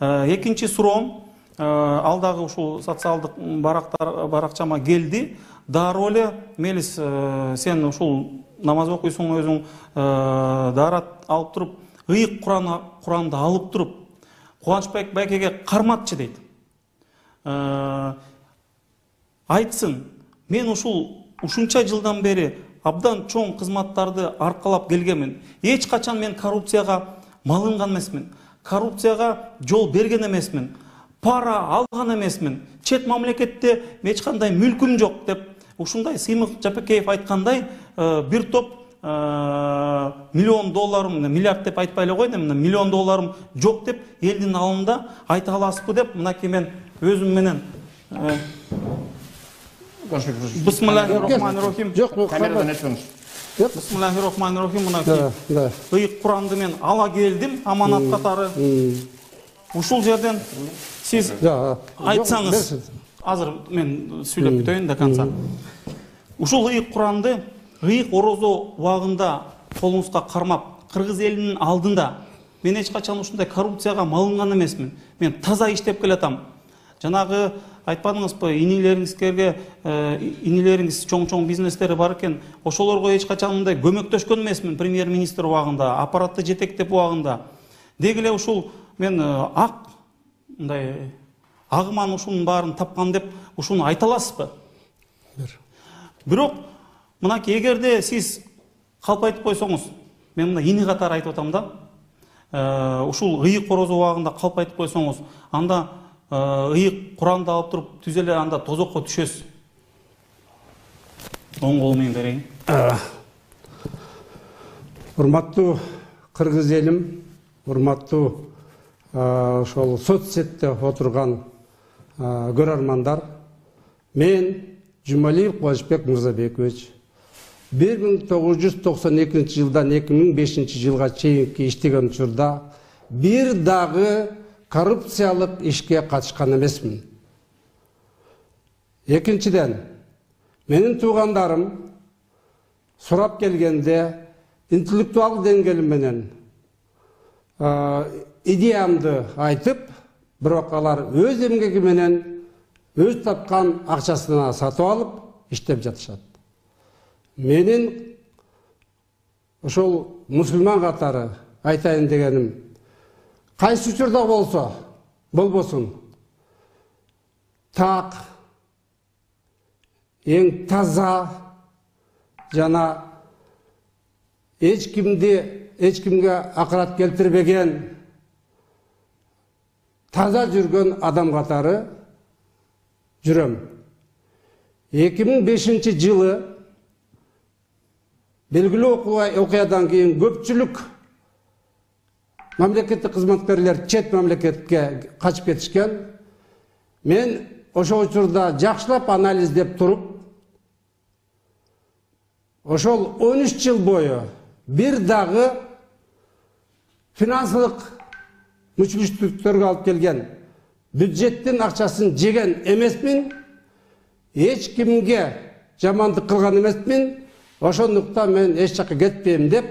Экинчи суроом, алдагы ушул социалдык баракчама келди. Дароо эле мелис сен ушул намаз окуйсуң өзүң, даарат алып туруп, ыйык Куранды алып туруп, Кубанычбек байкеге карматчы дейт. Айтсын, мен ушунча жылдан бери абдан чоң кызматтарды аркалап келгенмин. Эч качан мен коррупцияга малынган эмесмин. Коррупцияга жол берген эмесмин. Пара алган эмесмин. Чет мамлекетте эч кандай мүлкүм жок деп ушундай Сыймык Жапекеев айткандай бир топ миллион долларым, миллиард деп айтпай эле койдум, миллион долларым жок деп элдин алдында айта аласызбы деп мынакей мен өзүм менен Бисмиллахир-рахманир-рахим. Камерадан айтыңыз. Бисмиллахир-рахманир-рахим. Мынакей ыйык Куранды мен ала келдим аманат катары. Ушул жерден сиз айтсаңыз, азыр мен сүйлөп бүтөйүн до конца. Ушул ыйык Куранды ыйык орозо убагында колуңузга кармап, кыргыз элинин алдында мен эч качан ушундай коррупцияга малынган эмесмин. Мен таза иштеп келатам. Жанагы айтпадыңызбы, инилериңиз чоң бизнестери бар экен, ошолорго эч качан мындай көмөктөшкөн эмесмин премьер-министр убагында, аппаратты жетектеп убагында. Деги эле ушул мен мындай агыман ушунун баарын тапкан деп ушуну айта аласызбы? Бирок мынакей эгерде сиз калп айтып койсоңуз, мен мына ини катары айтып атам да. Ушул ыйык орозо убагында калп айтып койсоңуз, анда ыйык Куранды алып туруп түз эле анда тозокко түшөсүз. Оң кол менен берейин. Урматтуу кыргыз элим, урматтуу ошол соцсетте отурган көрөрмандар, мен Жумалиев Кубанычбек Мырзабекович 1992 жылдан 2005 жылга чейинки иштеген учурда бир дагы коррупциялык ишке катышкан эмесмин. Экинчиден, менин туугандарым сурап келгенде интеллектуал деңгээлим менен идеямды айтып, бирок алар өз эмгеги менен өз тапкан акчасына сатып алып иштеп жатышат. Менин ошол мусулман катары айтайын дегеним, кайсы учурда болбосун, так, эң таза жана эч кимге акырат келтирбеген таза жүргөн адам катары жүрөм. 2005 жылы белгилүү окуядан кийин көпчүлүк мамлекеттик кызматкерлер чет мамлекетке качып кетишкен. Мен ошол учурда жакшылап анализдеп туруп, ошол 13 жыл бою бир дагы финансылык мүчүлүштүктөргө алып келген бюджеттин акчасын жеген эмесмин, эч кимге жамандык кылган эмесмин. Ошондуктан мен эч жакка кетпейм деп,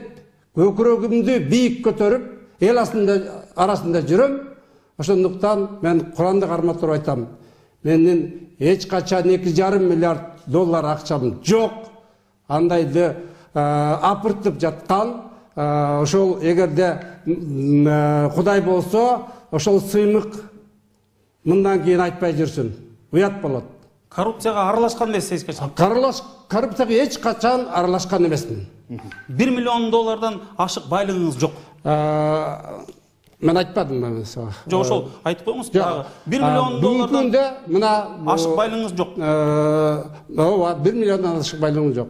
көкүрөгүмдү бийик көтөрүп, эл арасында жүрөм. Ошондуктан мен Куранды кармап туруп айтам. Менин эч качан 2,5 миллиард доллар акчам жок. Андайды апыртып жаткан, ошол эгерде Кудай болсо, ошол Сыймык мындан кийин айтпай жүрсүн. Уят болот. Коррупцияга аралашкан эмессиз эч качан? Коррупцияга эч качан аралашкан эмесмин. 1 миллион доллардан ашык байлыгыңыз жок. Мен айтпадым мен сага. Жок, ошол айтып коюңуз. 1 миллион доллардан мына ашык байлыгыңыз жок. Ооба, 1 миллиондан ашык байлыгым жок.